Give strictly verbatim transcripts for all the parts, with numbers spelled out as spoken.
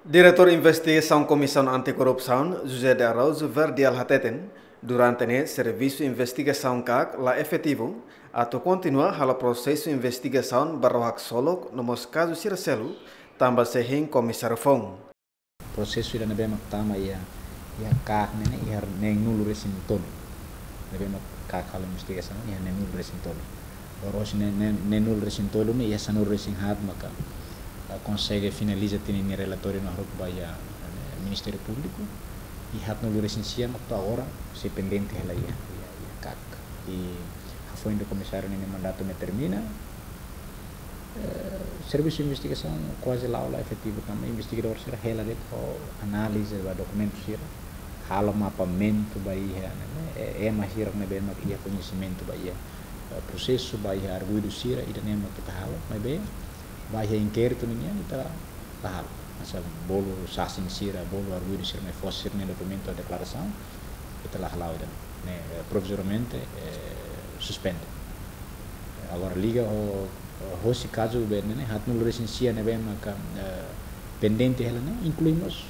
Diretór Investigasaun Komisaun Anti-Korrupsaun, José de Araújo Verdial hateten, durante ne'e servisu investigasaun KAK la efetivu, atu kontinua halo prosesu investigasaun ba rohak solok no mós kazu sira seluk, tanba sei hein komisáriu foun. Prosesu ida ne'ebé mak tama iha, iha KAK ne'e, iha neenulu-resin-tolu. Ne'ebé mak KAK halo investigasaun, iha neenulu-resin-tolu. Agora hosi ne'e, ne'e, neenulu-resin-tolu ne'e, iha sanulu-resin-haat maka, ah, konsege finaliza tiha ninia relatóriu no haruka ba iha, eh, Ministériu Públiku. I haatnulu-resin-sia mak to'o agora sei pendente hela iha, iha, iha KAK. I hafoin de'it komisáriu ninia mandatu ne'e termina, eh, servisu investigasaun kuaze la'o la efetivu tanba investigadór sira hela de'it ho análize ba dokumentu sira, halo mapeamentu ba iha, ne'e, eh, ema sira ne'ebé mak iha koñesimentu ba iha, eh, prosesu, ba iha arguidu sira, ida-ne'e mak ita halo, maibé ba iha inkéritu ninian ita la halo. Hanesan bolu sasin sira, bolu arguidu sira mai fó sira-nia dokumentu deklarasaun, ita la hala'o ida-ne'e, eh, provizoriamente, eh, suspende. Agora liga ho, hosi kazu be ne'e, haatnulu-resin-sia ne'ebé maka, eh, pendente hela ne'e, inklui mós,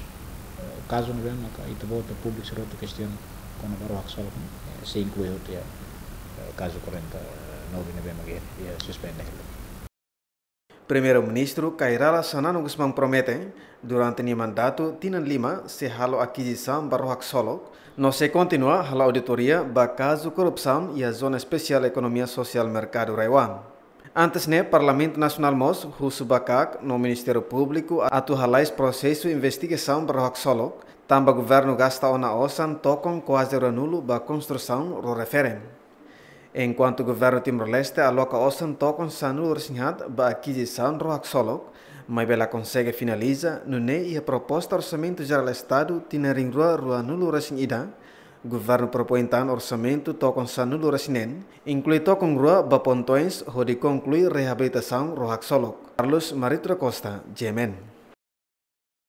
eh, kazu ne'ebé maka ita-boot públiku sira hotu kestiona kona-ba rohak solok ne'e, eh, sei inklui hotu iha, eh, kazu kuarenta e nove ne'ebé maka iha, iha suspende hela. Primeiru-Ministru Kay Rala Xanana Gusmão promete, durante nia mandatu tinan lima, sei halo akizisaun ba rohak solok, no sei kontinua halo auditoria ba kazu korrupsaun iha Zona Espesiál Ekonomia Sosiál Merkadu Raiwan. Antes ne'e, Parlamentu Nasionál mós husu ba KAK no Ministériu Públiku atu halais prosesu investigasaun ba rohak solok, tanba governu gasta ona osan tokon kuaze ruanulu ba konstrusaun rua referen. Enkuantu governu Timor-Leste aloka osan tokon sanulu-resin-haat ba akizisaun rohak solok, maibé la konsege finaliza, nune'e iha proposta Orsamentu Jerál Estadu tinan rihun rua ruanulu-resin-ida, governu propoin tan orsamentu tokon sanulu-resin-neen, inklui tokon rua ba pontoens hodi konklui reabilitasaun rohak solok. Carlos Marito da Costa, G M N.